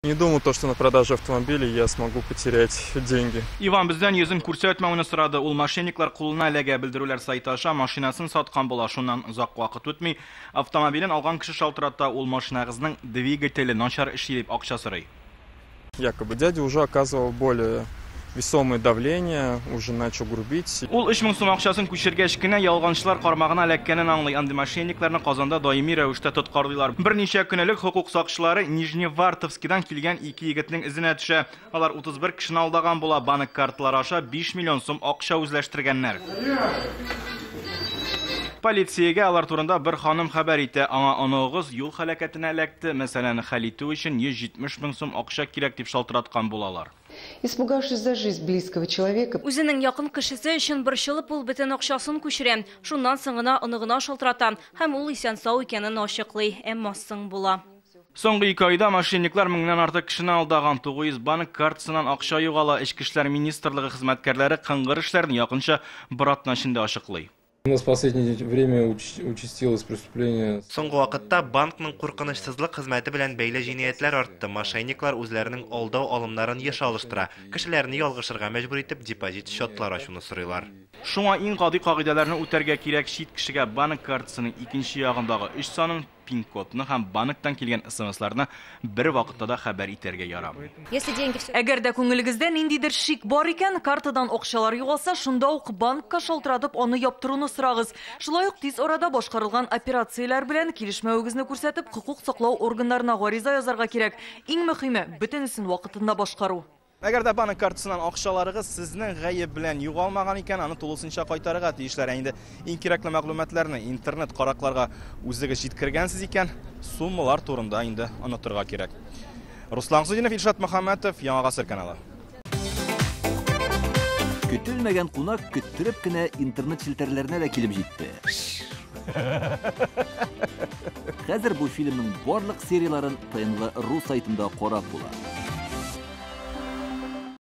Не думал то, что на продаже автомобиля я смогу потерять деньги. Иван бездән йөзен күрсәтмәүне сорады. Ул мошенниклар кулына эләгә. Белдерүләр сайты аша машинасын саткан була. Шуннан озак вакыт үтми, автомобилен алган кеше шалтырата. Ул машинагызның двигателе начар эшли дип акча сорый. Якобы дядя уже оказывал более весомое давление, уже начал грубить. Ул 3000 сум акчасын күчергәч кенә ялганчылар кармагына эләккәнен аңлый. Андый мошенникларны Казанда даими рәвештә тоткарлыйлар. Берничә көн элек хокук сакчылары Нижневартовскидан килгән ике егетнең эзенә төшә. Алар 31 кешене алдаган була. Банк карталары аша 5 миллион сум акча үзләштергәннәр. Полициягә алар турында бер ханым хәбәр итә. Аңа оныгыгыз юл һәлакәтенә эләкте. Мәсьәләне хәл итү өчен 170 мең сум акча кирәк дип шалтыраткан булалар. Испугавшись за жизнь близкого человека, Үзенең якын кешесе өчен борчылып, ул бөтен акчасын күчерә. Шуннан соң гына оныгына шалтырата һәм ул исән-сау икәнен ачыклый. Әмма соң була. Соңгы 2 айда мошенниклар меңнән артык кешене алдаган. 900 банк картасыннан акча югала. Эчке эшләр министрлыгы хезмәткәрләре кыңгыр эшләрне якынча бер атна эчендә ачыклый. У нас в последнее время участилось преступление. Соңгы вакытта банкның куркынычсызлык хезмәте белән бәйле җинаятьләр артты. Мошенниклар үзләренең алдау алымнарын еш алыштыра. Кешеләрне ялгышырга мәҗбүр итеп депозит счетлар ачуны сорыйлар. Шуңа иң гади кагыйдәләрне үтәргә кирәк. Чит кешегә банк картасының икенче ягындагы 3 санын, пин-кодны һәм банктан килгән СМСларны бер вакытта да хәбәр итәргә ярамый. Если деньги все Әгәр дә күңелегездә ниндидер шик бар икән, картадан акчалар югалса, шунда ук банкка шалтыратып аны яптыруны сорагыз. Шулай ук тиз арада башкарылган операцияләр белән килешмәвегезне күрсәтеп, хокук саклау органнарына гариза язарга кирәк. Иң мөһиме, бөтенесен вакытында башкару. Әгәр дә банк картасыннан акчаларыгыз сезнең гаеп белән югалмаган икән, аны тулысынча кайтарырга тиешләр. Ә инде иң кирәкле мәгълүматларны интернет каракларга үзегез җиткергәнсез икән, суммалар турында инде онытырга кирәк. Руслан Хусудинов, Илшат Мөхәммәтов, Яңа Гасыр каналы. Көтелмәгән кунак көттереп кенә интернет челтәрләренә дә килеп җитте. Хәзер бу фильмның барлык серияларын ТНВ.ру сайтында карап була.